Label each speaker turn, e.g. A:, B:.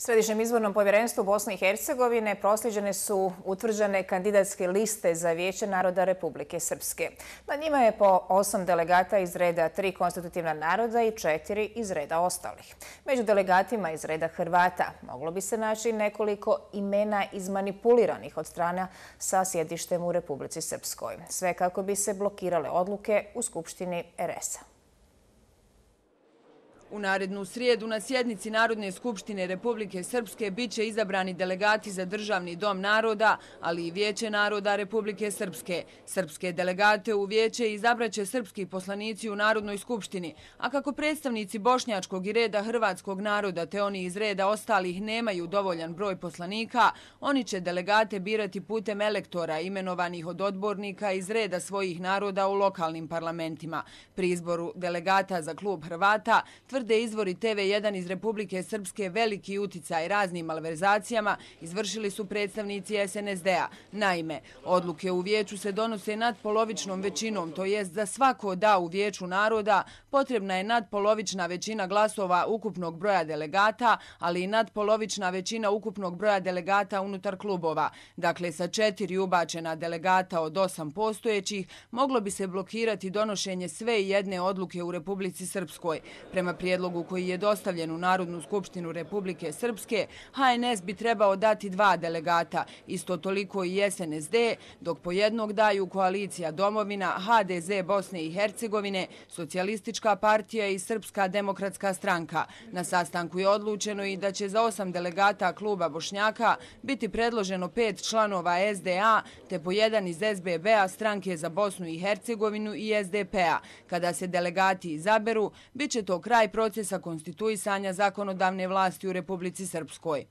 A: Središnjem izbornom povjerenstvu Bosne i Hercegovine prosljeđene su utvrđene kandidatske liste za Vijeće naroda Republike Srpske. Na njima je po 8 delegata iz reda 3 konstitutivna naroda i 4 iz reda ostalih. Među delegatima iz reda Hrvata moglo bi se naći nekoliko imena izmanipuliranih od strana sa sjedištem u Republici Srpskoj. Sve kako bi se blokirale odluke u Skupštini RS-a.
B: U narednu srijedu na sjednici Narodne skupštine Republike Srpske biće izabrani delegati za Državni dom naroda, ali i Vijeće naroda Republike Srpske. Srpske delegate u vijeće izabraće srpski poslanici u Narodnoj skupštini, a kako predstavnici bošnjačkog i reda hrvatskog naroda te oni iz reda ostalih nemaju dovoljan broj poslanika, oni će delegate birati putem elektora imenovanih od odbornika iz reda svojih naroda u lokalnim parlamentima. Pri izboru delegata za klub Hrvata tvrde izvori TV1 iz Republike Srpske veliki uticaj raznim malverzacijama izvršili su predstavnici SNSD-a. Naime, odluke u vijeću se donose nadpolovičnom većinom, to jest za svako da u vijeću naroda potrebna je nadpolovična većina glasova ukupnog broja delegata, ali i nadpolovična većina ukupnog broja delegata unutar klubova. Dakle, sa 4 ubačena delegata od 8 postojećih moglo bi se blokirati donošenje sve jedne odluke u Republici Srpskoj. Prema prijedlogu koji je dostavljen u Narodnu skupštinu Republike Srpske, HNS bi trebao dati 2 delegata, isto toliko i SNSD, dok po jednog daju Koalicija Domovina, HDZ Bosne i Hercegovine, Socijalistička partija i Srpska demokratska stranka. Na sastanku je odlučeno i da će za 8 delegata kluba Bošnjaka biti predloženo 5 članova SDA, te po jedan iz SBB-a, Stranke za Bosnu i Hercegovinu i SDP-a. Kada se delegati izaberu, bit će to kraj procesa konstituisanja zakonodavne vlasti u Republici Srpskoj.